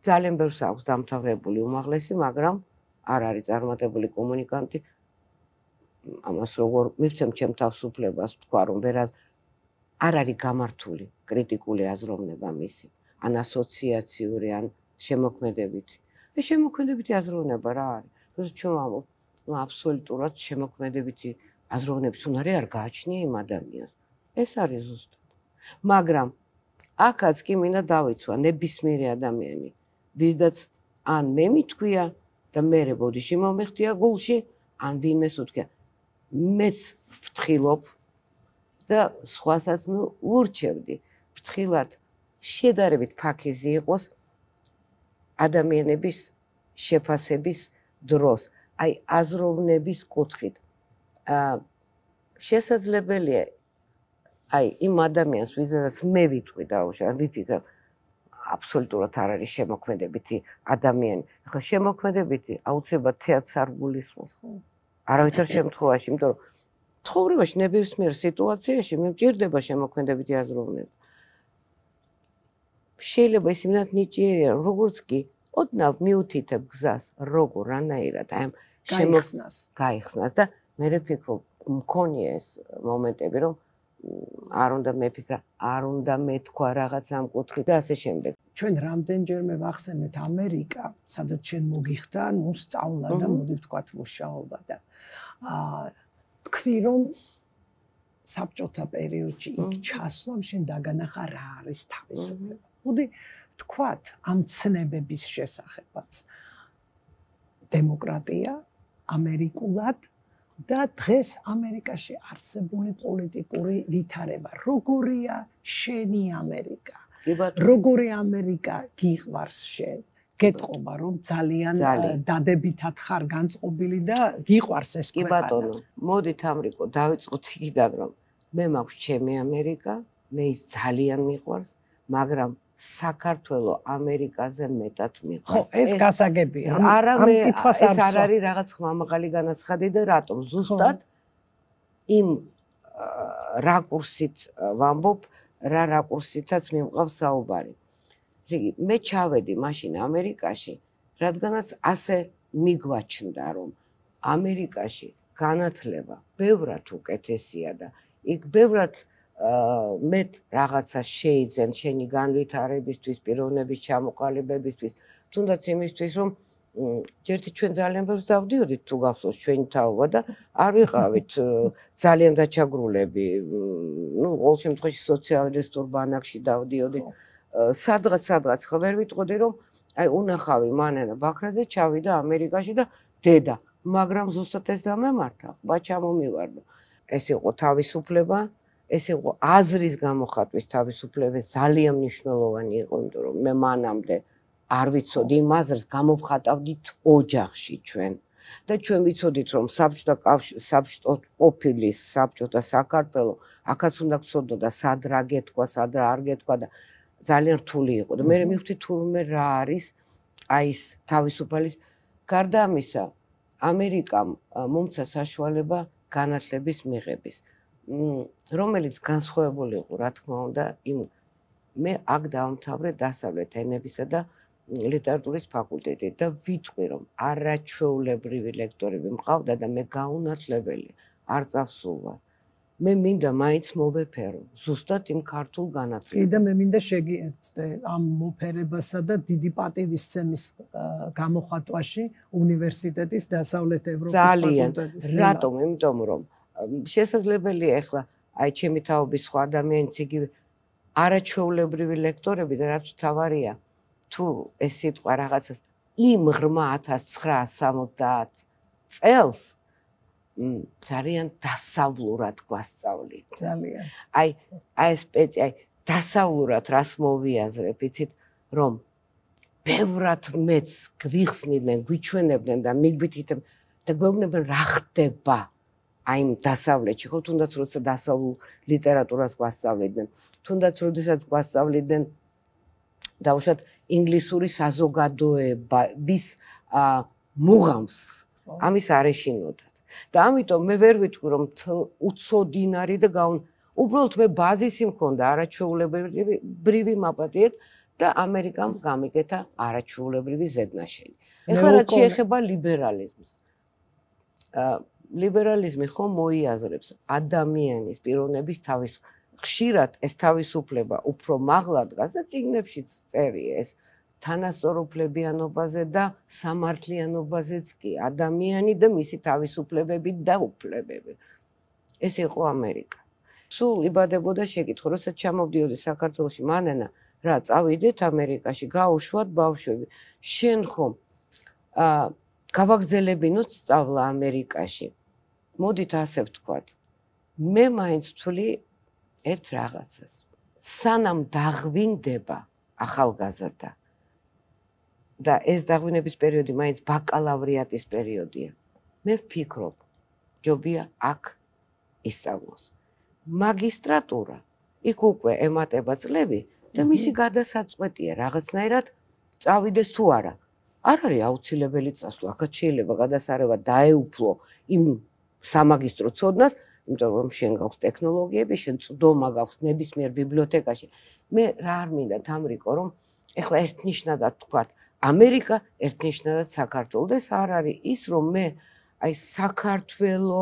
ძალიან ბევრს აქვს დამთავრებული უმაღლესი, მაგრამ არ არის წარმატებული კომუნიკანტი. ამას როგორ მივცემ ჩემ თავისუფლებას თქვა, რომ ვერას არ არის გამართული კრიტიკული აზროვნება მისი, ან ასოციაციური, ან შემოქმედებითი. ეს შემოქმედებითი აზროვნება რა არის? როცა ჩვენ ვამბობ, ნუ აბსოლუტურად შემოქმედებითი აზროვნების უნარი არ გააჩნია იმ ადამიანს. ეს არის ზუსტად. მაგრამ აქაც კი მინდა დავიცვა ნებისმიერი ადამიანი, ვისდაც ან მე მithქვია და მერე ბოდიში მომეხდია გულში, ან ვინმეს უთქია, მეც ვფრთხილობ და სხვასაც ნუ ურჩევდი ფრთხილად შედარებით ფაქიზი იყოს ადამიანების შეფასების დროს, აი აზროვნების კუთხით. შესაძლებელია აი იმ ადამიანს, ვისაც მე ვიტყვი დაუშვათ, ვიფიქრებ, აბსოლუტურად არ არის შემოქმედებითი ადამიანი. ახლა შემოქმედებითი აუცილებლად თეატრს არ გულისხმობს. არავითარ შემთხვევაში, იმიტომ რომ ცხოვრებაში ნებისმიერ სიტუაციაში მე მჭირდება შემოქმედებითი აზროვნება. შეიძლება ის იმდანაც ნიჭიერია, როგორც კი ოდნავ მიუთითებ გზას, როგორ რანაირად აი ამ გაიხსნას. გაიხსნას და მე ვფიქრობ, მქონია ეს მომენტები, რომ არ უნდა მეფიქრა, არ უნდა მეთქვა რაღაც ამ კუთხით და ასე შემდეგ. ჩვენ რამდენჯერმე ვახსენეთ ამერიკა, სადაც შენ მოგიხდა, ნუ სწავლა და მოდი ვთქვათ მუშაობა და აა თქვი რომ საბჭოთა პერიოდში იქ ჩასვლამ შენ დაგანახა რა არის თავისუფლება. მოდი ვთქვათ ამ ცნებების შესახებაც. დემოკრატია ამერიკულად და დღეს ამერიკაში არსებული პოლიტიკური ვითარება. როგორია შენი ამერიკა? როგორი ამერიკა გიყვარს შენ? გეტყობა რომ ძალიან დადებითად ხარ განწყობილი და გიყვარს ეს ქვეყანა. კი ბატონო, მოდით ამრიკო დავიწყოთ იქიდან რომ მე მაქვს ჩემი ამერიკა, მე ის ძალიან მიყვარს, მაგრამ საქართველო ამერიკაზე მეტად მიყვარს. ხო, ეს გასაგებია. არა მე ეს არ არის რაღაც ხმამაღალი განაცხადი და რატომ ზუსტად იმ რაკურსით ვამბობ, რა რაკურსითაც მიმყავს საუბარი. იგი მე ჩავედი მაშინ ამერიკაში, რადგანაც ასე მიგვაჩნდა რომ ამერიკაში განათლება ბევრად უკეთესია და იქ ბევრად მეტ რაღაცას შეიძენ შენი განვითარებისთვის, პიროვნების ჩამოყალიბებისთვის, თუნდაც იმისთვის რომ ჯერთი ჩვენ ძალიან ბევრს დავდიოდით თუ გახსოვს ჩვენი თაობა და არ ვიყავით ძალიან დაჩაგრულები, ну, ყოველ შემთხვევაში სოციალისტურ ბანაკში დავდიოდით. სადღაც სადღაც ხო ვერ ვიტყოდი რომ აი უნახავი მანენა ბაქრაძე ჩავიდა ამერიკაში და დედა, მაგრამ ზუსტად ეს დამემართა, ხმა ჩამომივარდა. ეს იყო თავისუფლება, ეს იყო აზრის გამოხატვის თავისუფლება, ძალიან მნიშვნელოვანი იყო, იმიტომ რომ მე მანამდე არ ვიცოდი იმ აზრს გამოვხატავდით ოჯახში ჩვენ და ჩვენ ვიცოდით რომ საბჭოთა კავშირი, საბჭოთა ყოფილის, საბჭოთა საქართველო, აქაც უნდა გცოდნოდა სად რა გეთქვა, სად რა არ გეთქვა და ძალიან რთული იყო და მე მივხვდი თურმე რა არის აი ეს თავისუფალის. გარდა ამისა, ამერიკამ მომცა საშუალება განათლების მიღების, რომელიც განსხვავებული იყო, რა თქმა უნდა, იმ მე აქ დავამთავრე დასავლეთ ენებისა და ლიტერატურის ფაკულტეტი და ვიტყვი რომ არაჩვეულებრივი ლექტორები მყავდა და მე გაუნათლებელი არ წავსულვარ. მე მინდა მაინც მოვეფერო ზუსტად იმ ქართულ განათლებას. კი და მე მინდა შეგიერთდე ამ მოფერებასა და დიდი პატივისცემის გამოხატვაში უნივერსიტეტის დასავლეთ ევროპის ფაკულტეტის. რატომ? იმიტომ რომ შესაძლებელია ახლა აი ჩემი თაობის სხვა ადამიანიც იგივე არაჩვეულებრივი ლექტორები და რაც თავარია თუ ეს სიტყვა რაღაცას იმ ღრმა ათას ცხრაას სამოცდაათ წელს ძალიან დასავლურად გვასწავლით. ძალიან. აი, აი სპეცი, აი დასავლურად რას მოვიაზრებ, იცით, რომ ბევრად მეც გვიხსნიდნენ, გვიჩვენებდნენ და მიგვითითებ და გვეუბნებდნენ რა ხდება აი იმ დასავლეთში, ხო, თუნდაც როცა დასავლურ ლიტერატურას გვასწავლიდნენ, თუნდაც როდესაც გვასწავლიდნენ დაუშვათ ინგლისური საზოგადოების მუღამს, ამის არ ეშინოდათ. და ამიტომ მე ვერ ვიტყვი რომ უცოდინარი და გაუნ უბრალოდ მე ბაზისი მქონდა არაჩვეულებრივი მაპატიეთ და ამერიკამ გამიკეთა არაჩვეულებრივი ზედნაშენი. ეხლა რაც შეეხება ლიბერალიზმს. ლიბერალიზმი ხომ მოიაზრებს ადამიანის პიროვნების თავის ხშირად ეს თავისუფლება უფრო მაღლა დგას და წიგნებშიც წერია ეს თანასწორუფლებიანობაზე და სამართლიანობაზეც კი ადამიანი და მისი თავისუფლებები და უფლებები. ეს იყო ამერიკა. სულ იბადებოდა შეკითხვა, როცა ჩამოვდიოდი საქართველოში მანენა, რა წავიდეთ ამერიკაში, გაუშვათ ბავშვები. შენ ხომ აა გავაგზელებინოთ სწავლა ამერიკაში. მოდით ასე ვთქვათ. მე მაინც ვთვლი ერთ რაღაცას. სანამ დაღვინდება ახალგაზრდა და ეს დაღვინების პერიოდი მაინც ბაკალავრიატის პერიოდია. მე ვფიქრობ, ჯობია აქ ისწავლოს. მაგისტრატურა, იქ უკვე ემატება წლები და მისი გადასაწყვეტია რაღაცნაირად წავიდეს თუ არა. არ არის აუცილებელი წასვლა, აქაც შეიძლება გადასარევად დაეუფლო იმ სამაგისტრო ცოდნას, იმიტომ რომ შენ გაქვს ტექნოლოგიები, შენ წვდომა გაქვს ნებისმიერ ბიბლიოთეკაში. მე რა არ მინდა თამრიკო, რომ ეხლა ერთნიშნადად თქვათ ამერიკა ერთნიშნადად საქართველო და ეს არ არის ის რომ მე აი საქართველო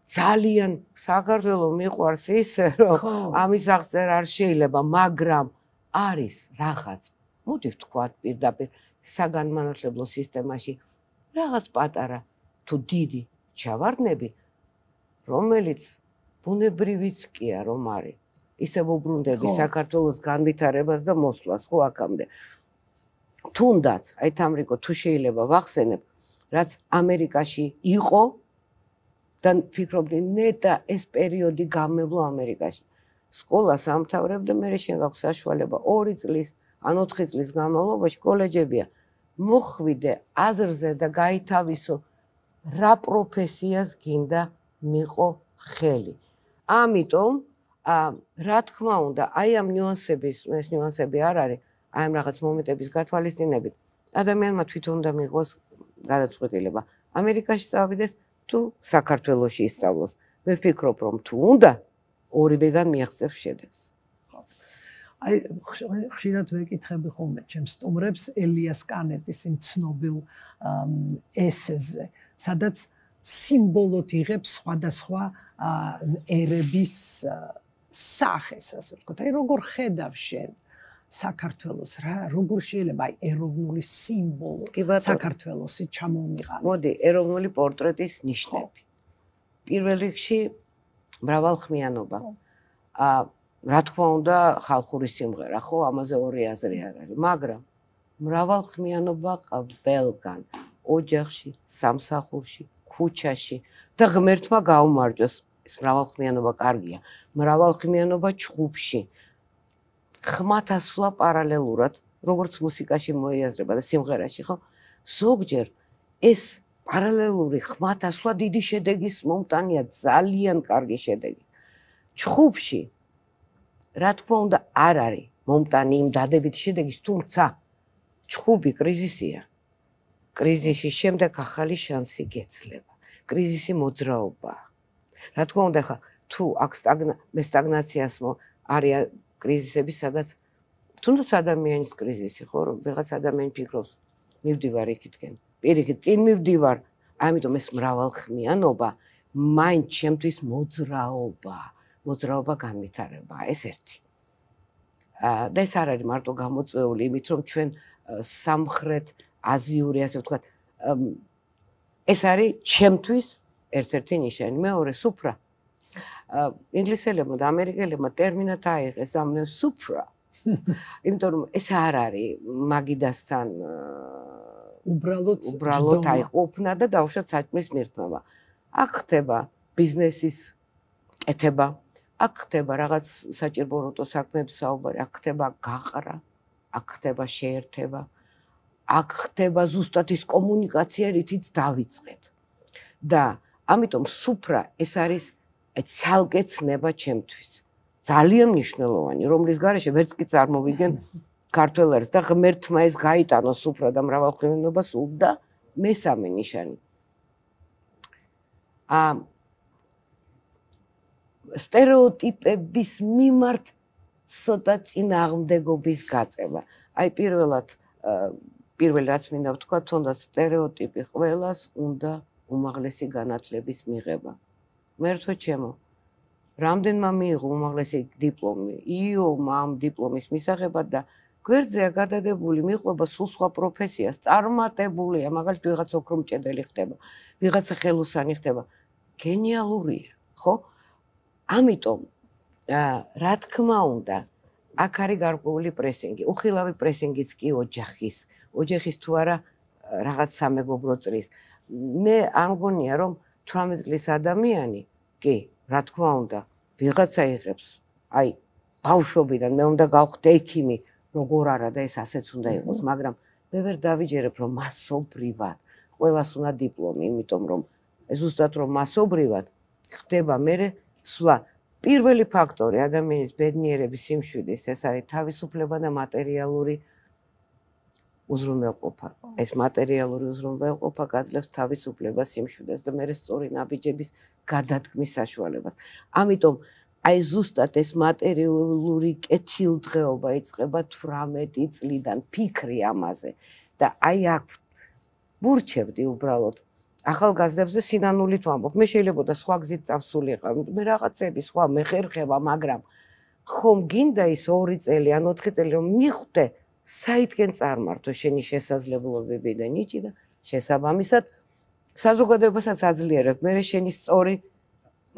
ძალიან საქართველო მიყვარს ისე რომ ამის აღწერა არ შეიძლება, მაგრამ არის რაღაც მოდი ვთქვათ პირდაპირ საგანმანათლებლო სისტემაში რაღაც პატარა თუ დიდი ჩავარდნები, რომელიც ბუნებრივიც კია რომ არის. ისევ უბრუნდები საქართველოს განვითარებას და მოსვლას ხო აქამდე. თუნდაც, აი თამრიკო, თუ შეიძლება ვახსენებ, რაც ამერიკაში იყო და ფიქრობდი, ნეტა ეს პერიოდი გამევლო ამერიკაში. სკოლას ამთავრებ და მე შენ გაქვს საშუალება ორი წლის, ან ოთხი წლის განმავლობაში კოლეჯებია მოხვიდე აზრზე და გაითავისო რა პროფესიას გინდა მიყო ხელი. ამიტომ რა თქმა უნდა, აი ამ ნიუანსების, ეს ნიუანსები არ არის, აი ამ რაღაც მომენტების გათვალისწინებით, ადამიანმა თვითონ უნდა მიიღოს გადაწყვეტილება. ამერიკაში წავიდეს თუ საქართველოში ისწავლოს. მე ვფიქრობ, რომ თუ უნდა, ორივეგან მიაღწევს შედეგს. აი ხშირად ვეკითხები ხოლმე ჩემს სტუმრებს ელიას კანეტის იმ ცნობილ ესეზე, სადაც სიმბოლოდ იღებს სხვადასხვა ერების სახეს, ასე ვთქვათ. აი როგორ ხედავ შენ საქართველოს, რა როგორ შეიძლება აი ეროვნული სიმბოლო საქართველოსი ჩამომიყალიბოს? მოდი, ეროვნული პორტრეტის ნიშნები. პირველ რიგში მრავალხმიანობა. აა რა თქმა უნდა, ხალხური სიმღერა, ხო, ამაზე ორი აზრი არ არის, მაგრამ მრავალხმიანობა ყველგან, ოჯახში, სამსახურში, ქუჩაში და ღმერთმა გაუმარჯოს, ეს მრავალხმიანობა კარგია. მრავალხმიანობა ჩხუბში. ხმათასვლა პარალელურად, როგორც მუსიკაში მოიაზრება და სიმღერაში, ხო? ზოგჯერ ეს პარალელური ხმათასვლა დიდი შედეგის მომტანია, ძალიან კარგი შედეგი. ჩხუბში რა თქმა უნდა არ არის მომტანი იმ დადებითი შედეგის, თუმცა ჩხუბი კრიზისია. კრიზისის შემდეგ ახალი შანსი გეცლება. კრიზისი მოძრაობაა. რა თქმა უნდა, ხა თუ აქ მე სტაგნაციას არის კრიზისები, სადაც თუნდაც ადამიანის კრიზისი, ხო, რომ ვიღაც ადამიანი ფიქრობს, მივდივარ იქითკენ. პირიქით, წინ მივდივარ, ამიტომ ეს მრავალხმიანობა მაინც ჩემთვის მოძრაობაა. მოძრაობა განვითარებაა, ეს ერთი. და ეს არ არის მარტო გამოწვეული იმით, რომ ჩვენ სამხრეთ აზიური, ასე ვთქვათ, ეს არის ჩემთვის ერთ-ერთი ნიშანი. მეორე, სუფრა. ინგლისელებმა და ამერიკელებმა ტერმინად აიღეს და მე სუფრა. იმიტომ რომ ეს არ არის მაგიდასთან უბრალოდ უბრალოდ აიყოფნა და დავუშვათ საჭმლის მირთმევა. აქ ხდება ბიზნესის კეთება. აქ ხდება რაღაც საჭიროებო საქმეების საუბარი, აქ ხდება გაყრა, აქ ხდება შეერთება, აქ ხდება ზუსტად ის კომუნიკაცია, რითიც დავიწყეთ. და ამიტომ სუფრა ეს არის ცალკე ცნება ჩემთვის. ძალიან მნიშვნელოვანი, რომლის გარეშე ვერც კი წარმოვიდგენ ქართველ ერს და ღმერთმა ეს გაიტანო სუფრა და მრავალხმიანობა სულ და მესამე ნიშანი. აა სტერეოტიპების მიმართ ცოტა წინააღმდეგობის გაწევა. აი პირველად პირველ რაც მინდა ვთქვა, თუნდაც სტერეოტიპი ყველას უნდა უმაღლესი განათლების მიღება. მერთო ჩემო, რამდენმა მიიღო უმაღლესი დიპლომი, იო-მა ამ დიპლომის მისაღებად და გვერდზეა გადადებული, მიყვება სულ სხვა პროფესიას, წარმატებულია, მაგალითად ვიღაც ოქრომჭედელი ხდება, ვიღაცა ხელოსანი ხდება. გენიალურია, ხო? ამიტომ რა თქმა უნდა, აქ არის გარკვეული პრესინგი. უხილავი პრესინგიც კი ოჯახის, ოჯახის თუ არა რაღაც სამეგობრო წრის. მე არ მგონია, რომ თვრამეტ წლის ადამიანი, კი, რა თქმა უნდა, ვიღაცა იღებს, აი, ბავშვობიდან მე უნდა გავხდე ექიმი, როგორ არა და ეს ასეც უნდა იყოს, მაგრამ მე ვერ დავიჯერებ, რომ მასობრივად ყველას უნდა დიპლომი, იმიტომ რომ ზუსტად რომ მასობრივად ხდება მერე სვლა. პირველი ფაქტორი ადამიანის ბედნიერების სიმშვიდის ეს არის თავისუფლება და მატერიალური უზრუნველყოფა. ეს მატერიალური უზრუნველყოფა გაძლევს თავისუფლებას, სიმშვიდეს და მერე სწორი ნაბიჯების გადადგმის საშუალებას. ამიტომ აი ზუსტად ეს მატერიალური კეთილდღეობა იწყება თვრამეტი წლიდან ფიქრი ამაზე და აი აქ ვურჩევდი უბრალოდ ახალგაზრდებზე სინანულით ვამბობ. მე შეიძლება და სხვა გზით წავსულიყავ, მე რაღაცები სხვა მე ხერხება, მაგრამ ხომ გინდა ის ორი წელი ან ოთხი წელი რომ მიხვდე საითკენ წარმართო შენი შესაძლებლობები და ნიჭი და შესაბამისად საზოგადოებასაც აძლიერებ მე შენი სწორი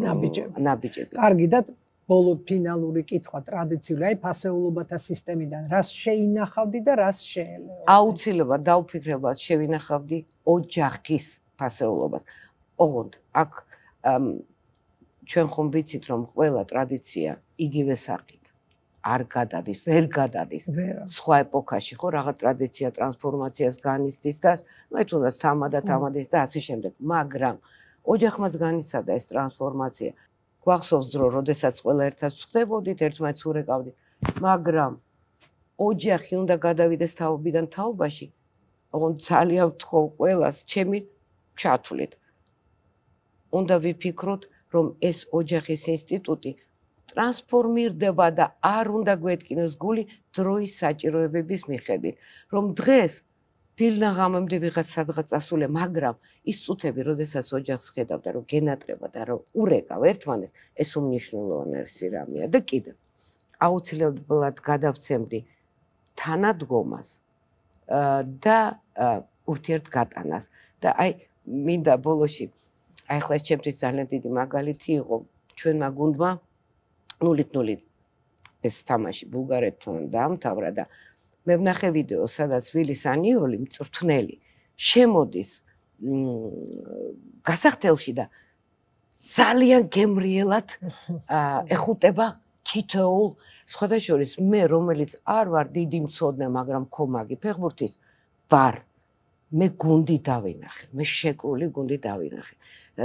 ნაბიჯები. ნაბიჯები. კარგი და ბოლო ფინალური კითხვა ტრადიციული, აი ფასეულობათა სისტემიდან რას შეინახავდი და რას შეელეო? აუცილებლად დავფიქრებლად შევინახავდი ოჯახის ფასეულობას. ოღონდ აქ ჩვენ ხომ ვიცით რომ ყველა ტრადიცია იგივე სახით. არ გადადის, ვერ გადადის. სხვა ეპოქაში ხო რაღაც ტრადიცია ტრანსფორმაციას განიცდის და მე თუნდაც თამადა თამადის და ასე შემდეგ. მაგრამ ოჯახმაც განიცადა ეს ტრანსფორმაცია. გვახსოვს დრო, როდესაც ყველა ერთად ვხდებოდით, ერთმანეთს ურეკავდით, მაგრამ ოჯახი უნდა გადავიდეს თაობიდან თაობაში. ოღონდ ძალიან ვთხოვ ყველას, ჩემი ჩათვლით. უნდა ვიფიქროთ, რომ ეს ოჯახის ინსტიტუტი ტრანსფორმირდება და არ უნდა გვეთკინოს გული დროის საჭიროებების მიხედვით. რომ დღეს დილნაღამემდე ვიღაც სადღაც წასულე, მაგრამ ის წუთები, როდესაც ოჯახს ხედავდა, რომ გენატრება და რომ ურეკავ ერთმანეთს, ეს უმნიშვნელოვანესი რამეა და კიდევ აუცილებლად გადავცემდი თანადგომას და ურთიერთგატანას და აი მინდა ბოლოში აი ახლა ჩემთვის ძალიან დიდი მაგალითი იყო ჩვენმა გუნდმა ნულით ნულით ეს თამაში ბულგარეთთან დაამთავრა და მე ვნახე ვიდეო, სადაც ვილის ანიოლი მწვრთნელი შემოდის გასახდელში და ძალიან გემრიელად ეხუტება თითოეულ სხვადასხვა მე რომელიც არ ვარ დიდი მცოდნე, მაგრამ კომაგი ფეხბურთის ვარ. მე გუნდი დავინახე, მე შეკრული გუნდი დავინახე. და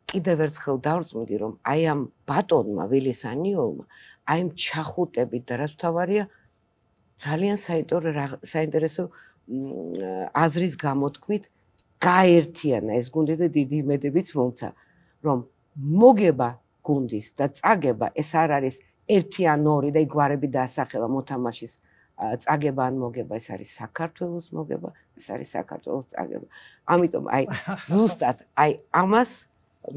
კიდევ ერთხელ დავწმუნდი, რომ აი ამ ბატონმა ვილის ანიოლმა, აი ამ ჩახუტებით და რაც თავარია ძალიან საინტერესო აზრის გამოთქმით გაერთიანა ეს გუნდი და დიდი იმედებიც მომცა, რომ მოგება გუნდის და წაგება ეს არ არის ერთი ან ორი და იგვარები დაასახელა მოთამაშის წაგება ან მოგება, ეს არის საქართველოს მოგება, ეს არის საქართველოს წაგება. ამიტომ აი ზუსტად აი ამას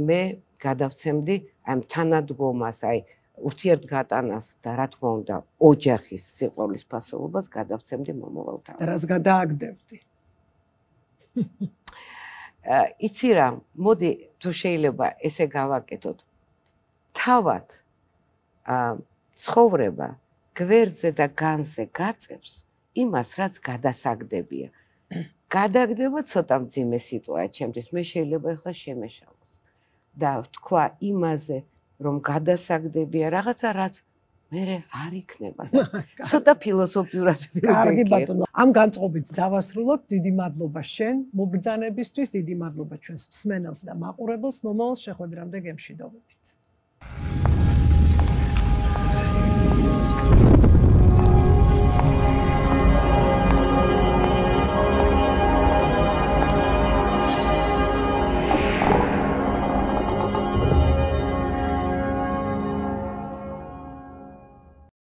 მე გადავცემდი აი თანადგომას, აი ურთიერთგატანას და რა თქმა უნდა ოჯახის სიყვარულის ფასეულობას გადავცემდი მომავალ თავს. და რას გადააგდებდი? იცი რა, მოდი თუ შეიძლება ესე გავაკეთოთ. თავად ცხოვრება გვერდზე და განზე გაწევს იმას, რაც გადასაგდებია. გადაგდება ცოტა მძიმე სიტუაცია ჩემთვის, მე შეიძლება ახლა შემეშალოს და ვთქვა იმაზე, რომ გადასაგდებია რაღაცა, რაც მე არ იქნება. ცოტა ფილოსოფიურად ვიქნა. კარგი ბატონო, ამ განწყობით დავასრულოთ. დიდი მადლობა შენ მობრძანებისთვის, დიდი მადლობა ჩვენს მსმენელს და მაყურებელს. მომავალ შეხვედრამდე გემშვიდობებით.